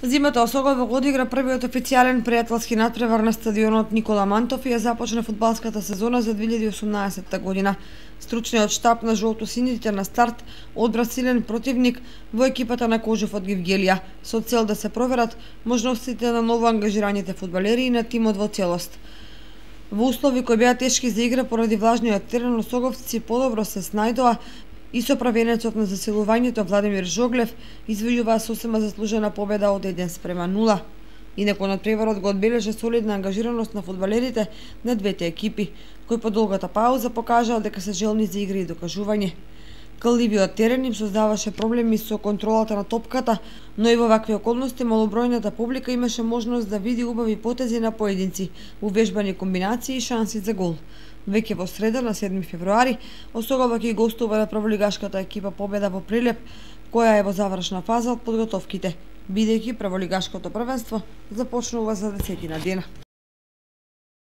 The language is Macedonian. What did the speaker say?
Зимата Осогово одигра првиот официјален пријателски натпревар на стадионот Никола Мантов и ја започна фудбалската сезона за 2018 година. Стручниот штаб на жолто-сините на старт одбра силен противник во екипата на Кожев од Гевгелија, со цел да се проверат можностите на ново ангажираните фудбалери и на тимот во целост. Во услови кои беа тешки за игра поради влажниот терен, осоговци подобро се снајдоа и со правенецот на засилувањето Владимир Жоглев извојуваа сосема заслужена победа од 1:0. Инаку надпреварот го одбележа солидна ангажираност на фудбалерите на двете екипи, кои по долгата пауза покажаа дека се желни за игра и докажување. Калливиот терен им создаваше проблеми со контролата на топката, но и во вакви околности малобројната публика имаше можност да види убави потези на поединци, увежбани комбинации и шанси за гол. Веќе во среда, на 7 февруари, Осогово ќе гостува на прволигашката екипа Победа во Прилеп, која е во завршна фаза од подготовките, бидејќи прволигашкото првенство започнува за 10 дена.